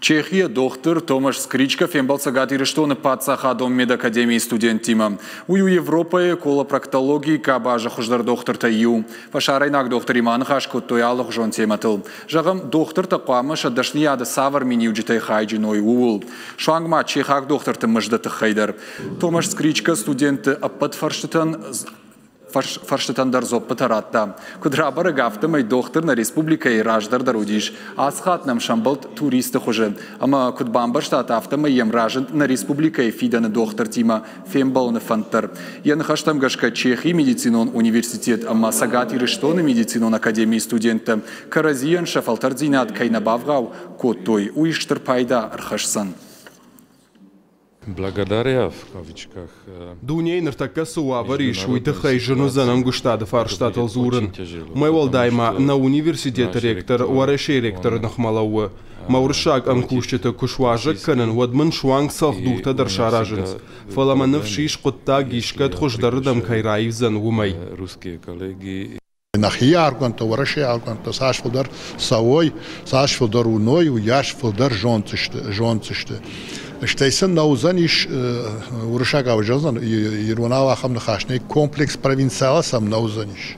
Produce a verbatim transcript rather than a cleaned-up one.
Чехийӕ дохтыр Томаш Скричка фембӕлд Цӕгат Ирыстоны паддзахадон медакадемийы студенттимӕ. Уый у Европӕйы колопроктологийы къабазы хуыздӕр дохтыртӕй иу. Фӕсарӕйнаг дохтыримӕ аныхас кодтой алыгъуызон темӕтыл. Зӕгъӕм, дохтыртӕ хъуамӕ сӕ дӕсныйады цавӕр миниуджытӕй хайджын уой, ууыл. Суанг ма чехаг дохтырты мызды тыххӕй дӕр. Томаш Скричка студентты ӕппӕт фӕрстытӕн фӕрстытӕн дӕр дзуӕппытӕ радта. Куыд рабӕрӕг, афтӕмӕй дохтыр нӕ республикӕйы раздӕр дӕр уыдис. Ацы хатт нӕм сӕмбӕлд туристы хуызы. Ӕмӕ куыд бамбӕрстат, афтӕмӕй йӕм разынд нӕ республикӕйы фидӕны дохтыртимӕ фембӕлыны фӕнд дӕр. Йӕ ныхӕстӕм гӕсгӕ Чехийы медицинон университет ӕмӕ Цӕгат Ирыстоны медицинон академийы студенттӕ кӕрӕдзийӕн сӕ фӕлтӕрддзинад кӕй нӕ бавгъау кодтой, уый стыр пайда ӕрхӕсдзӕн. Благодаря в кавычках Дунейы ныртӕккӕ цы уавӕр ис, уый тыххӕй зын уыдзӕн ӕмгуыстады фарстатыл дзурын. Уымӕй уӕлдай ма нӕ университеты ректор Уӕрӕсейы ректоры ныхмӕ лӕууы. Мӕ уырыссаг ӕмкусджыты куы суазӕг кӕнын, уӕд мын суанг цӕлхдуртӕ дӕр саразынц. Фӕлӕ мӕ ныфс ис, хъуыддаг искӕд хуыздӕрырдӕм кӕй раивдзӕн, уымӕй. Русские коллеги. Нӕхи аргъуантӕ, Уӕрӕсейы аргъуантӕ цас фылдӕр цӕуой, цас фылдӕр уыной, уыйас фылдӕр зонддзысты, зонддзысты. Стӕй сын нӕ уыдзӕнис, уырыссагау зӕгъдзӕн, иронау ахӕм ныхас нӕй, комплекс провинциала сӕм нӕ уыдзӕнис.